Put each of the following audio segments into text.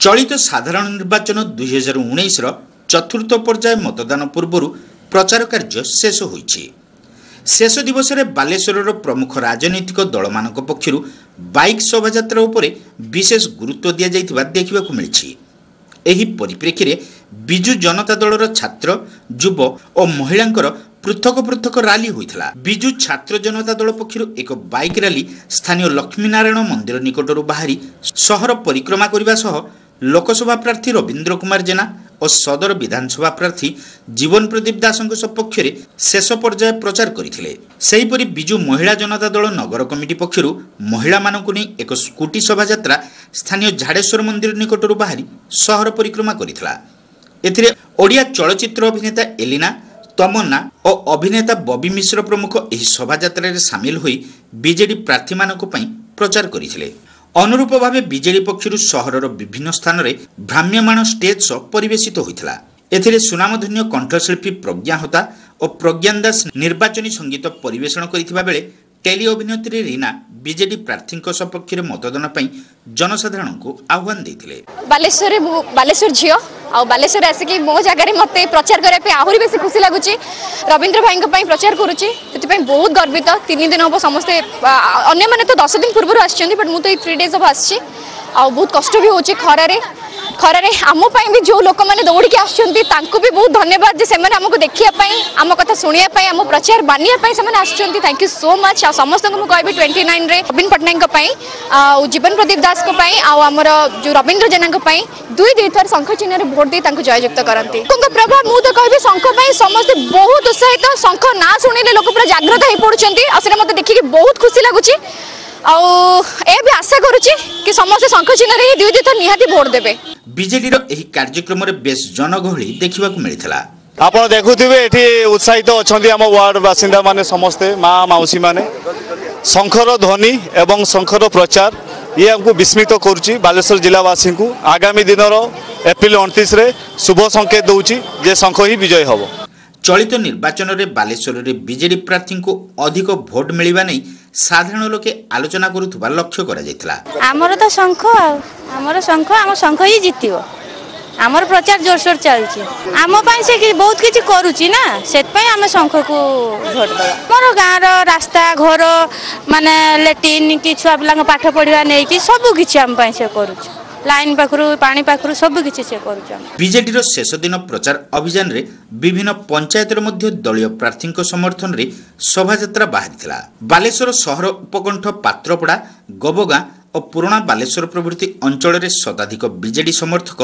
ଚଳିତ ସାଧାରଣ ନିର୍ବାଚନ 2019ର ଚତୁର୍ଥ ପର୍ଯ୍ୟାୟ ମତଦାନ ପୂର୍ବରୁ ପ୍ରଚାର କାର୍ଯ୍ୟ ଶେଷ ହୋଇଛି। ଶେଷ ଦିବସରେ ବାଲେଶ୍ୱରର ପ୍ରମୁଖ ରାଜନୈତିକ ଦଳମାନଙ୍କ ପକ୍ଷରୁ ବାଇକ୍ ଶୋଭାଯାତ୍ରା ଉପରେ ବିଶେଷ ଗୁରୁତ୍ୱ ଦିଆଯାଇଥିବା ଦେଖିବାକୁ ମିଳିଛି। ଏହି ପରିପ୍ରେକ୍ଷୀରେ ବିଜୁ ଜନତା ଦଳର ଛାତ୍ର, ଯୁବ ଓ ମହିଳାଙ୍କର ପୃଥକ ପୃଥକ ରାଲି ହୋଇଥିଲା। ବିଜୁ ଛାତ୍ର ଜନତା ଦଳ ପକ୍ଷରୁ ଏକ ବାଇକ୍ ରାଲି ସ୍ଥାନୀୟ ଲକ୍ଷ୍ମୀନାରାୟଣ ମନ୍ଦିର ନିକଟରୁ ବାହାରି ସହର ପରିକ୍ରମା କରିବା ସହ ଲୋକସଭା ପ୍ରାର୍ଥୀ ରବୀନ୍ଦ୍ର କୁମାର ଜେନା ଓ ସଦର ବିଧାନସଭା ପ୍ରାର୍ଥୀ ଜୀବନ ପ୍ରଦୀପ ଦାସଙ୍କ ସପକ୍ଷରେ ଶେଷ ପର୍ଯ୍ୟାୟ ପ୍ରଚାର କରିଥିଲେ। ସେହିପରି ବିଜୁ ମହିଳା ଜନତା ଦଳ ନଗର କମିଟି ପକ୍ଷରୁ ମହିଳାମାନଙ୍କୁ ନେଇ ଏକ ସ୍କୁଟି ଶୋଭାଯାତ୍ରା ସ୍ଥାନୀୟ ଝାଡ଼େଶ୍ୱର ମନ୍ଦିର ନିକଟରୁ ବାହାରି ସହର ପରିକ୍ରମା କରିଥିଲା। ଏଥିରେ ଓଡ଼ିଆ ଚଳଚ୍ଚିତ୍ର ଅଭିନେତା ଏଲିନା, ତମନ୍ନା ଓ ଅଭିନେତା ବବି ମିଶ୍ର ପ୍ରମୁଖ ଏହି ଶୋଭାଯାତ୍ରାରେ ସାମିଲ ହୋଇ ବିଜେଡି ପ୍ରାର୍ଥୀମାନଙ୍କ ପାଇଁ ପ୍ରଚାର କରିଥିଲେ। ଅନୁରୂପ ଭାବେ ବିଜେଡି ପକ୍ଷରୁ ସହରର ବିଭିନ୍ନ ସ୍ଥାନରେ ଭ୍ରାମ୍ୟମାଣ ଷ୍ଟେଜ୍ ଶୋ ପରିବେଶିତ ହୋଇଥିଲା। ଏଥିରେ ସୁନାମଧନ୍ୟ କଣ୍ଠଶିଳ୍ପୀ ପ୍ରଜ୍ଞା ହୋତା ଓ ପ୍ରଜ୍ଞାନ ଦାସ ନିର୍ବାଚନୀ ସଙ୍ଗୀତ ପରିବେଷଣ କରିଥିବା ବେଳେ ଟେଲି ଅଭିନେତ୍ରୀ ରୀନା ବିଜେଡି ପ୍ରାର୍ଥୀଙ୍କ ସପକ୍ଷରେ ମତଦାନ ପାଇଁ ଜନସାଧାରଣଙ୍କୁ ଆହ୍ୱାନ ଦେଇଥିଲେ। ବାଲେଶ୍ୱରରେ ମୁଁ ବାଲେଶ୍ୱର ଝିଅ, ଆଉ ବାଲେଶ୍ୱରରେ ଆସିକି ମୋ ଜାଗାରେ ମୋତେ ପ୍ରଚାର କରିବା ପାଇଁ ଆହୁରି ବେଶୀ ଖୁସି ଲାଗୁଛି। ରବୀନ୍ଦ୍ର ଭାଇଙ୍କ ପାଇଁ ପ୍ରଚାର କରୁଛି, ସେଥିପାଇଁ ବହୁତ ଗର୍ବିତ। 3 ଦିନ ହେବ ସମସ୍ତେ, ଅନ୍ୟମାନେ ତ 10 ଦିନ ପୂର୍ବରୁ ଆସିଛନ୍ତି, ବଟ୍ ମୁଁ ତ ଏଇ 3 ଡେଜ୍ ହେବ ଆସିଛି। ଆଉ ବହୁତ କଷ୍ଟ ବି ହେଉଛି ଖରାରେ। ଖରାରେ ଆମ ପାଇଁ ବି ଯେଉଁ ଲୋକମାନେ ଦୌଡ଼ିକି ଆସୁଛନ୍ତି, ତାଙ୍କୁ ବି ବହୁତ ଧନ୍ୟବାଦ ଯେ ସେମାନେ ଆମକୁ ଦେଖିବା ପାଇଁ, ଆମ କଥା ଶୁଣିବା ପାଇଁ, ଆମ ପ୍ରଚାର ମାନିବା ପାଇଁ ସେମାନେ ଆସୁଛନ୍ତି। Thank you so much. ଆଉ ସମସ୍ତଙ୍କୁ ମୁଁ କହିବି 29ରେ ନବୀନ ପଟ୍ଟନାୟକଙ୍କ ପାଇଁ ଆଉ ଜୀବନ ପ୍ରଦୀପ ଦାସଙ୍କ ପାଇଁ ଆଉ ଆମର ଯେଉଁ ରବୀନ୍ଦ୍ର ଜେନାଙ୍କ ପାଇଁ ଦୁଇ ଦୁଇ ଥର ଶଙ୍ଖ ଚିହ୍ନରେ ଭୋଟ ଦେଇ ତାଙ୍କୁ ଜୟଯୁକ୍ତ କରନ୍ତି। ଲୋକଙ୍କ ପ୍ରଭାବ ମୁଁ ତ କହିବି ଶଙ୍ଖ ପାଇଁ ସମସ୍ତେ ବହୁତ ଉତ୍ସାହିତ। ଶଙ୍ଖ ନାଁ ଶୁଣିଲେ ଲୋକ ପୁରା ଜାଗ୍ରତ ହେଇ ପଡୁଛନ୍ତି, ଆଉ ସେଇଟା ମୋତେ ଦେଖିକି ବହୁତ ଖୁସି ଲାଗୁଛି। ଆଉ ଏ ବି ଆଶା କରୁଛି କି ସମସ୍ତେ ଶଙ୍ଖ ଚିହ୍ନରେ ହିଁ ଦୁଇ ଦୁଇ ଥର ନିହାତି ଭୋଟ ଦେବେ। ବିଜେଡିର ଏହି କାର୍ଯ୍ୟକ୍ରମରେ ବେଶ ଜନଗହଳି ଦେଖିବାକୁ ମିଳିଥିଲା। ଆପଣ ଦେଖୁଥିବେ ଏଠି ଉତ୍ସାହିତ ଅଛନ୍ତି ଆମ ୱାର୍ଡ ବାସିନ୍ଦା ମାନେ, ସମସ୍ତେ ମା ମାଉସୀ ମାନେ। ଶଙ୍ଖର ଧ୍ୱନି ଏବଂ ଶଙ୍ଖର ପ୍ରଚାର ଇଏ ଆମକୁ ବିସ୍ମିତ କରୁଛି ବାଲେଶ୍ୱର ଜିଲ୍ଲାବାସୀଙ୍କୁ। ଆଗାମୀ ଦିନର ଏପ୍ରିଲ 29ରେ ଶୁଭ ସଂକେତ ଦେଉଛି ଯେ ଶଙ୍ଖ ହିଁ ବିଜୟ ହେବ। ଚଳିତ ନିର୍ବାଚନରେ ବାଲେଶ୍ୱରରେ ବିଜେଡି ପ୍ରାର୍ଥୀଙ୍କୁ ଅଧିକ ଭୋଟ ମିଳିବା ନେଇ ସାଧାରଣ ଲୋକେ ଆଲୋଚନା କରୁଥିବା ଲକ୍ଷ୍ୟ କରାଯାଇଥିଲା। ଆମର ତ ଶଙ୍ଖ, ଆଉ ଆମର ଶଙ୍ଖ, ଆମ ଶଙ୍ଖ ହିଁ ଜିତିବ। ଆମର ପ୍ରଚାର ଜୋରସୋର ଚାଲିଛି। ଆମ ପାଇଁ ସେ ବହୁତ କିଛି କରୁଛି ନା, ସେଥିପାଇଁ ଆମେ ଶଙ୍ଖକୁ ଭୋଟ ଦେବା। ଆମର ଗାଁର ରାସ୍ତା ଘର ମାନେ ଲାଟ୍ରିନ୍ କି ଛୁଆ ପିଲାଙ୍କ ପାଠ ପଢ଼ିବା ନେଇକି ସବୁ କିଛି ଆମ ପାଇଁ ସେ କରୁଛି। ଲାଇନ୍ ପାଖରୁ ପାଣି ପାଖରୁ ସବୁ କିଛି ସେ କରୁଛି। ବିଜେଡିର ଶେଷ ଦିନ ପ୍ରଚାର ଅଭିଯାନରେ ବିଭିନ୍ନ ପଞ୍ଚାୟତରେ ମଧ୍ୟ ଦଳୀୟ ପ୍ରାର୍ଥୀଙ୍କ ସମର୍ଥନରେ ଶୋଭାଯାତ୍ରା ବାହାରିଥିଲା। ବାଲେଶ୍ୱର ସହର ଉପକଣ୍ଠ ପାତ୍ରପଡ଼ା, ଗବଗାଁ ଓ ପୁରୁଣା ବାଲେଶ୍ୱର ପ୍ରଭୃତି ଅଞ୍ଚଳରେ ଶତାଧିକ ବିଜେଡି ସମର୍ଥକ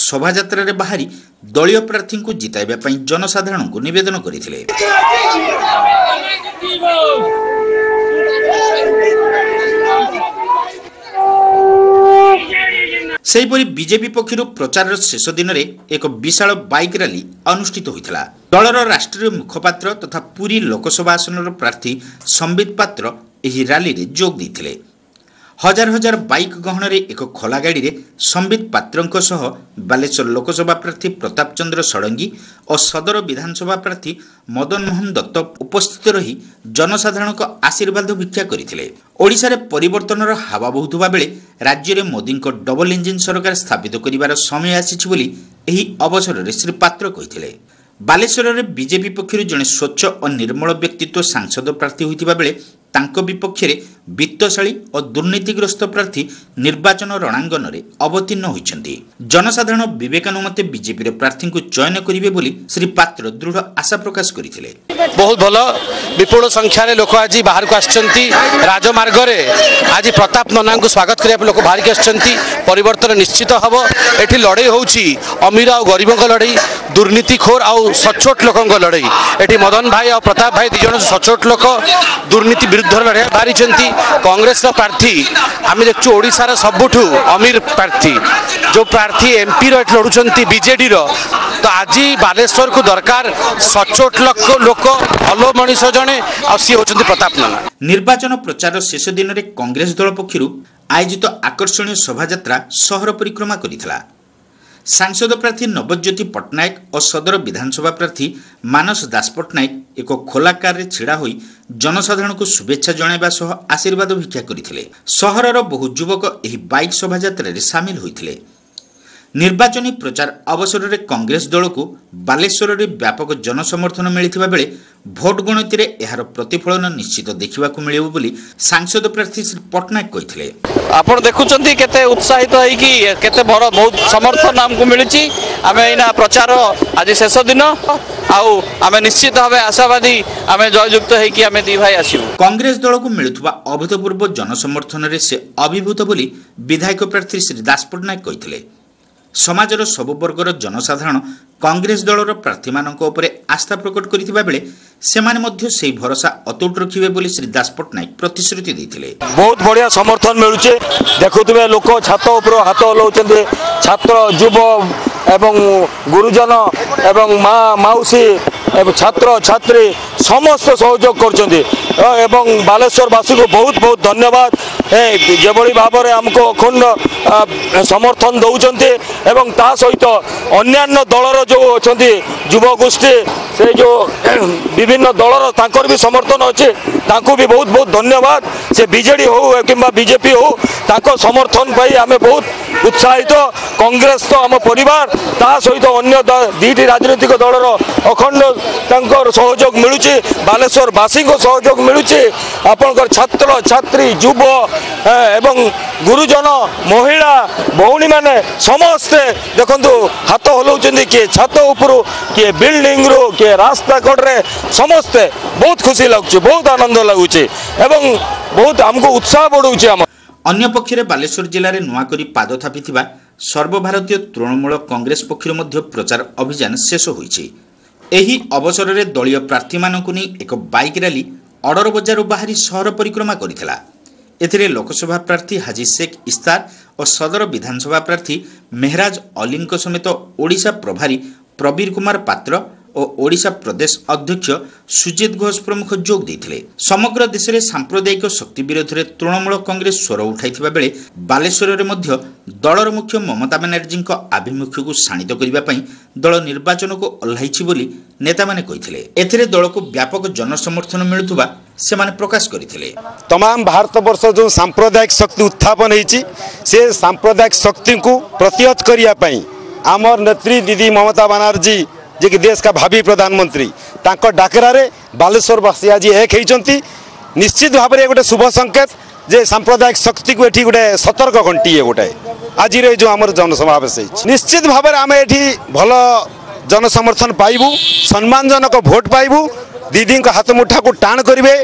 ଶୋଭାଯାତ୍ରାରେ ବାହାରି ଦଳୀୟ ପ୍ରାର୍ଥୀଙ୍କୁ ଜିତାଇବା ପାଇଁ ଜନସାଧାରଣଙ୍କୁ ନିବେଦନ କରିଥିଲେ। ସେହିପରି ବିଜେପି ପକ୍ଷରୁ ପ୍ରଚାରର ଶେଷ ଦିନରେ ଏକ ବିଶାଳ ବାଇକ୍ ରାଲି ଅନୁଷ୍ଠିତ ହୋଇଥିଲା। ଦଳର ରାଷ୍ଟ୍ରୀୟ ମୁଖପାତ୍ର ତଥା ପୁରୀ ଲୋକସଭା ଆସନର ପ୍ରାର୍ଥୀ ସମ୍ବିତ ପାତ୍ର ଏହି ରାଲିରେ ଯୋଗ ଦେଇଥିଲେ। ହଜାର ହଜାର ବାଇକ୍ ଗହଣରେ ଏକ ଖୋଲା ଗାଡ଼ିରେ ସମ୍ବିତ ପାତ୍ରଙ୍କ ସହ ବାଲେଶ୍ୱର ଲୋକସଭା ପ୍ରାର୍ଥୀ ପ୍ରତାପ ଚନ୍ଦ୍ର ଷଡ଼ଙ୍ଗୀ ଓ ସଦର ବିଧାନସଭା ପ୍ରାର୍ଥୀ ମଦନ ମୋହନ ଦତ୍ତ ଉପସ୍ଥିତ ରହି ଜନସାଧାରଣଙ୍କ ଆଶୀର୍ବାଦ ଭିକ୍ଷା କରିଥିଲେ। ଓଡ଼ିଶାରେ ପରିବର୍ତ୍ତନର ହାୱା ବହୁଥିବା ବେଳେ ରାଜ୍ୟରେ ମୋଦିଙ୍କ ଡବଲ ଇଞ୍ଜିନ୍ ସରକାର ସ୍ଥାପିତ କରିବାର ସମୟ ଆସିଛି ବୋଲି ଏହି ଅବସରରେ ଶ୍ରୀ ପାତ୍ର କହିଥିଲେ। ବାଲେଶ୍ୱରରେ ବିଜେପି ପକ୍ଷରୁ ଜଣେ ସ୍ୱଚ୍ଛ ଓ ନିର୍ମଳ ବ୍ୟକ୍ତିତ୍ୱ ସାଂସଦ ପ୍ରାର୍ଥୀ ହୋଇଥିବା ବେଳେ ତାଙ୍କ ବିପକ୍ଷରେ ବିତ୍ତଶାଳୀ ଓ ଦୁର୍ନୀତିଗ୍ରସ୍ତ ପ୍ରାର୍ଥୀ ନିର୍ବାଚନ ରଣାଙ୍ଗନରେ ଅବତୀର୍ଣ୍ଣ ହୋଇଛନ୍ତି। ଜନସାଧାରଣ ବିବେକାନୁମତେ ବିଜେପିର ପ୍ରାର୍ଥୀଙ୍କୁ ଚୟନ କରିବେ ବୋଲି ଶ୍ରୀ ପାତ୍ର ଦୃଢ଼ ଆଶା ପ୍ରକାଶ କରିଥିଲେ। ବହୁତ ଭଲ ବିପୁଳ ସଂଖ୍ୟାରେ ଲୋକ ଆଜି ବାହାରକୁ ଆସିଛନ୍ତି। ରାଜମାର୍ଗରେ ଆଜି ପ୍ରତାପ ନନାଙ୍କୁ ସ୍ୱାଗତ କରିବା ପାଇଁ ଲୋକ ବାହାରିକି ଆସିଛନ୍ତି। ପରିବର୍ତ୍ତନ ନିଶ୍ଚିତ ହେବ। ଏଠି ଲଢ଼େଇ ହେଉଛି ଅମୀର ଆଉ ଗରିବଙ୍କ ଲଢ଼େଇ, ଦୁର୍ନୀତିଖୋର ଆଉ ସଚୋଟ ଲୋକଙ୍କ ଲଢ଼େଇ। ଏଠି ମଦନ ଭାଇ ଆଉ ପ୍ରତାପ ଭାଇ ଦୁଇ ଜଣ ସଚୋଟ ଲୋକ, ଦୁର୍ନୀତି ବିରୁଦ୍ଧରେ ଲଢ଼େଇ ବାହାରିଛନ୍ତି। କଂଗ୍ରେସର ପ୍ରାର୍ଥୀ ଆମେ ଦେଖୁଛୁ ଓଡ଼ିଶାର ସବୁଠୁ ଅମୀର ପ୍ରାର୍ଥୀ, ଯେଉଁ ପ୍ରାର୍ଥୀ ଏମ୍ପିର ଏଠି ଲଢ଼ୁଛନ୍ତି ବିଜେଡ଼ିର। ତ ଆଜି ବାଲେଶ୍ୱରକୁ ଦରକାର ସଚୋଟ ଲୋକ, ଭଲ ମଣିଷ ଜଣେ, ଆଉ ସିଏ ହେଉଛନ୍ତି ପ୍ରତାପ ନନା। ନିର୍ବାଚନ ପ୍ରଚାରର ଶେଷ ଦିନରେ କଂଗ୍ରେସ ଦଳ ପକ୍ଷରୁ ଆୟୋଜିତ ଆକର୍ଷଣୀୟ ଶୋଭାଯାତ୍ରା ସହର ପରିକ୍ରମା କରିଥିଲା। ସାଂସଦ ପ୍ରାର୍ଥୀ ନବଜ୍ୟୋତି ପଟ୍ଟନାୟକ ଓ ସଦର ବିଧାନସଭା ପ୍ରାର୍ଥୀ ମାନସ ଦାସ ପଟ୍ଟନାୟକ ଏକ ଖୋଲା କାରରେ ଛିଡ଼ା ହୋଇ ଜନସାଧାରଣଙ୍କୁ ଶୁଭେଚ୍ଛା ଜଣାଇବା ସହ ଆଶୀର୍ବାଦ ଭିକ୍ଷା କରିଥିଲେ। ସହରର ବହୁ ଯୁବକ ଏହି ବାଇକ୍ ଶୋଭାଯାତ୍ରାରେ ସାମିଲ ହୋଇଥିଲେ। ନିର୍ବାଚନୀ ପ୍ରଚାର ଅବସରରେ କଂଗ୍ରେସ ଦଳକୁ ବାଲେଶ୍ୱରରେ ବ୍ୟାପକ ଜନସମର୍ଥନ ମିଳିଥିବା ବେଳେ ଭୋଟ ଗଣତିରେ ଏହାର ପ୍ରତିଫଳନ ନିଶ୍ଚିତ ଦେଖିବାକୁ ମିଳିବ ବୋଲି ସାଂସଦ ପ୍ରାର୍ଥୀ ଶ୍ରୀ ପଟ୍ଟନାୟକ କହିଥିଲେ। ଆପଣ ଦେଖୁଛନ୍ତି କେତେ ଉତ୍ସାହିତ ହେଇକି କେତେ ବଡ଼ ବହୁତ ସମର୍ଥନ ଆମକୁ ମିଳିଛି। ଆମେ ଏଇନା ପ୍ରଚାର ଆଜି ଶେଷ ଦିନ, ଆଉ ଆମେ ନିଶ୍ଚିତ ଭାବେ ଆଶାବାଦୀ ଆମେ ଜୟଯୁକ୍ତ ହେଇକି ଆମେ ଦି ଭାଇ ଆସିବୁ। କଂଗ୍ରେସ ଦଳକୁ ମିଳୁଥିବା ଅଭୂତପୂର୍ବ ଜନସମର୍ଥନରେ ସେ ଅଭିଭୂତ ବୋଲି ବିଧାୟକ ପ୍ରାର୍ଥୀ ଶ୍ରୀ ଦାସ ପଟ୍ଟନାୟକ କହିଥିଲେ। ସମାଜର ସବୁ ବର୍ଗର ଜନସାଧାରଣ କଂଗ୍ରେସ ଦଳର ପ୍ରାର୍ଥୀମାନଙ୍କ ଉପରେ ଆସ୍ଥା ପ୍ରକଟ କରିଥିବା ବେଳେ ସେମାନେ ମଧ୍ୟ ସେହି ଭରସା ଅତୁଟ ରଖିବେ ବୋଲି ଶ୍ରୀ ଦାସ ପଟ୍ଟନାୟକ ପ୍ରତିଶ୍ରୁତି ଦେଇଥିଲେ। ବହୁତ ବଢ଼ିଆ ସମର୍ଥନ ମିଳୁଛି। ଦେଖୁଥିବେ ଲୋକ ଛାତ ଉପରୁ ହାତ ହଲାଉଛନ୍ତି, ଛାତ୍ର, ଯୁବ ଏବଂ ଗୁରୁଜନ ଏବଂ ମା ମାଉସୀ ଏବଂ ଛାତ୍ର ଛାତ୍ରୀ ସମସ୍ତେ ସହଯୋଗ କରୁଛନ୍ତି ଏବଂ ବାଲେଶ୍ୱରବାସୀକୁ ବହୁତ ବହୁତ ଧନ୍ୟବାଦ। ଯେଭଳି ଭାବରେ ଆମକୁ ଅଖଣ୍ଡ ସମର୍ଥନ ଦେଉଛନ୍ତି ଏବଂ ତା ସହିତ ଅନ୍ୟାନ୍ୟ ଦଳର ଯେଉଁ ଅଛନ୍ତି ଯୁବଗୋଷ୍ଠୀ, ସେ ଯେଉଁ ବିଭିନ୍ନ ଦଳର ତାଙ୍କର ବି ସମର୍ଥନ ଅଛି, ତାଙ୍କୁ ବି ବହୁତ ବହୁତ ଧନ୍ୟବାଦ। ସେ ବିଜେଡ଼ି ହେଉ କିମ୍ବା ବିଜେପି ହେଉ, ତାଙ୍କ ସମର୍ଥନ ପାଇ ଆମେ ବହୁତ ଉତ୍ସାହିତ। କଂଗ୍ରେସ ତ ଆମ ପରିବାର, ତା ସହିତ ଅନ୍ୟ ଦୁଇଟି ରାଜନୈତିକ ଦଳର ଅଖଣ୍ଡ ତାଙ୍କର ସହଯୋଗ ମିଳୁଛି, ବାଲେଶ୍ୱରବାସୀଙ୍କ ସହଯୋଗ ମିଳୁଛି। ଆପଣଙ୍କର ଛାତ୍ର ଛାତ୍ରୀ, ଯୁବ ଏବଂ ଗୁରୁଜନ, ମହିଳା, ଭଉଣୀମାନେ ସମସ୍ତେ ଦେଖନ୍ତୁ ହାତ ହଲାଉଛନ୍ତି, କିଏ ଛାତ ଉପରୁ, କିଏ ବିଲ୍ଡିଂରୁ, କିଏ ରାସ୍ତା କଡ଼ରେ, ସମସ୍ତେ ବହୁତ ଖୁସି ଲାଗୁଛି, ବହୁତ ଆନନ୍ଦ ଲାଗୁଛି ଏବଂ ବହୁତ ଆମକୁ ଉତ୍ସାହ ବଢ଼ଉଛି ଆମ। ଅନ୍ୟପକ୍ଷରେ ବାଲେଶ୍ୱର ଜିଲ୍ଲାରେ ନୂଆ କରି ପାଦ ଥାପିଥିବା ସର୍ବଭାରତୀୟ ତୃଣମୂଳ କଂଗ୍ରେସ ପକ୍ଷରୁ ମଧ୍ୟ ପ୍ରଚାର ଅଭିଯାନ ଶେଷ ହୋଇଛି। ଏହି ଅବସରରେ ଦଳୀୟ ପ୍ରାର୍ଥୀମାନଙ୍କୁ ନେଇ ଏକ ବାଇକ୍ ରାଲି ଅଡର ବଜାରରୁ ବାହାରି ସହର ପରିକ୍ରମା କରିଥିଲା। ଏଥିରେ ଲୋକସଭା ପ୍ରାର୍ଥୀ ହାଜି ଶେଖ୍ ଇସ୍ତାର ଓ ସଦର ବିଧାନସଭା ପ୍ରାର୍ଥୀ ମେହରାଜ ଅଲିଙ୍କ ସମେତ ଓଡ଼ିଶା ପ୍ରଭାରୀ ପ୍ରବୀର କୁମାର ପାତ୍ର ଓ ଓଡ଼ିଶା ପ୍ରଦେଶ ଅଧ୍ୟକ୍ଷ ସୁଜିତ ଘୋଷ ପ୍ରମୁଖ ଯୋଗ ଦେଇଥିଲେ। ସମଗ୍ର ଦେଶରେ ସାମ୍ପ୍ରଦାୟିକ ଶକ୍ତି ବିରୋଧରେ ତୃଣମୂଳ କଂଗ୍ରେସ ସ୍ୱର ଉଠାଇଥିବା ବେଳେ ବାଲେଶ୍ୱରରେ ମଧ୍ୟ ଦଳର ମୁଖ୍ୟ ମମତା ବାନାର୍ଜୀଙ୍କ ଆଭିମୁଖ୍ୟକୁ ଶାଣିତ କରିବା ପାଇଁ ଦଳ ନିର୍ବାଚନକୁ ଓହ୍ଲାଇଛି ବୋଲି ନେତାମାନେ କହିଥିଲେ। ଏଥିରେ ଦଳକୁ ବ୍ୟାପକ ଜନସମର୍ଥନ ମିଳୁଥିବା ସେମାନେ ପ୍ରକାଶ କରିଥିଲେ। ତମାମ ଭାରତବର୍ଷ ଯେଉଁ ସାମ୍ପ୍ରଦାୟିକ ଶକ୍ତି ଉତ୍ଥାପନ ହେଇଛି, ସେ ସାମ୍ପ୍ରଦାୟିକ ଶକ୍ତିକୁ ପ୍ରତିହତ କରିବା ପାଇଁ ଆମର ନେତ୍ରୀ ଦିଦି ମମତା ବାନାର୍ଜୀ, ଯିଏକି ଦେଶ କା ଭାବି ପ୍ରଧାନମନ୍ତ୍ରୀ, ତାଙ୍କ ଡାକରାରେ ବାଲେଶ୍ୱରବାସୀ ଆଜି ଏକ ହେଇଛନ୍ତି। ନିଶ୍ଚିତ ଭାବରେ ଗୋଟେ ଶୁଭ ସଂକେତ ଯେ ସାମ୍ପ୍ରଦାୟିକ ଶକ୍ତିକୁ ଏଠି ଗୋଟେ ସତର୍କ ଘଣ୍ଟି ଗୋଟେ ଆଜିର ଏ ଯେଉଁ ଆମର ଜନସମାବେଶ ହେଇଛି। ନିଶ୍ଚିତ ଭାବରେ ଆମେ ଏଠି ଭଲ ଜନସମର୍ଥନ ପାଇବୁ, ସମ୍ମାନଜନକ ଭୋଟ ପାଇବୁ, ଦିଦିଙ୍କ ହାତ ମୁଠାକୁ ଟାଣ କରିବେ।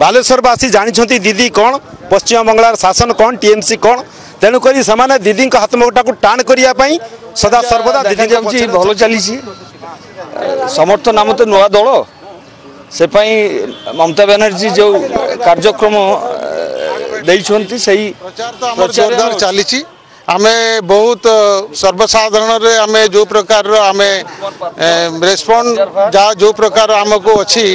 ବାଲେଶ୍ୱରବାସୀ ଜାଣିଛନ୍ତି ଦିଦି କ'ଣ, ପଶ୍ଚିମବଙ୍ଗଳାର ଶାସନ କ'ଣ, ଟିଏମ୍ସି କ'ଣ, ତେଣୁକରି ସେମାନେ ଦିଦିଙ୍କ ହାତ ମୁଠାକୁ ଟାଣ କରିବା ପାଇଁ ସଦା ସର୍ବଦା ଦେଖାଯାଉଛି। ଭଲ ଚାଲିଛି ସମର୍ଥନ। ଆମ ତ ନୂଆ ଦଳ, ସେ ପାଇଁ ମମତା ବାନାର୍ଜୀ ଯେଉଁ କାର୍ଯ୍ୟକ୍ରମ ଦେଇଛନ୍ତି ସେଇ ପ୍ରଚାର ଜୋରଦାର ଚାଲିଛି। ଆମେ ବହୁତ ସର୍ବସାଧାରଣରେ ଆମେ ଯେଉଁ ପ୍ରକାରର ଆମେ ରେସ୍ପଣ୍ଡ ଯାହା ଯେଉଁ ପ୍ରକାର ଆମକୁ ଅଛି,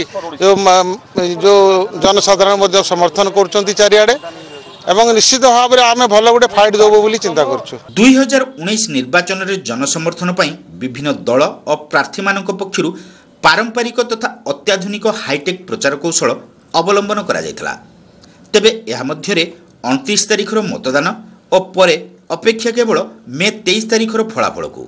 ଯେଉଁ ଜନସାଧାରଣ ମଧ୍ୟ ସମର୍ଥନ କରୁଛନ୍ତି ଚାରିଆଡ଼େ ଏବଂ ନିଶ୍ଚିତ ଭାବରେ ଆମେ ଭଲ ଗୋଟେ ଫାଇଟ୍ ଦେବୁ ବୋଲି ଚିନ୍ତା କରୁଛୁ। 2019 ନିର୍ବାଚନରେ ଜନସମର୍ଥନ ପାଇଁ ବିଭିନ୍ନ ଦଳ ଓ ପ୍ରାର୍ଥୀମାନଙ୍କ ପକ୍ଷରୁ ପାରମ୍ପରିକ ତଥା ଅତ୍ୟାଧୁନିକ ହାଇଟେକ୍ ପ୍ରଚାର କୌଶଳ ଅବଲମ୍ବନ କରାଯାଇଥିଲା। ତେବେ ଏହା ମଧ୍ୟରେ 29 ତାରିଖର ମତଦାନ ଓ ପରେ ଅପେକ୍ଷା କେବଳ ମେ 23 ତାରିଖର ଫଳାଫଳକୁ।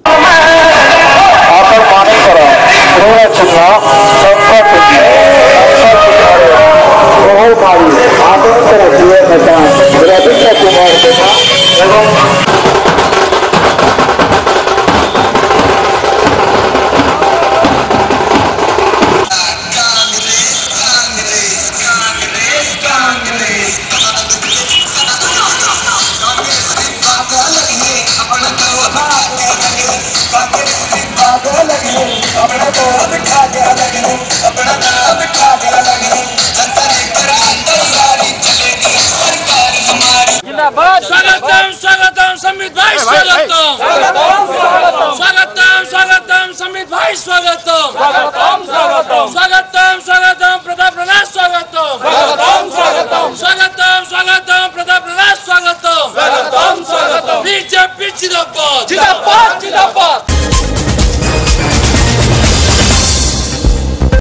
स्वागतम स्वागतम संबित भाई, स्वागतम स्वागतम स्वागतम संबित भाई, स्वागतम स्वागतम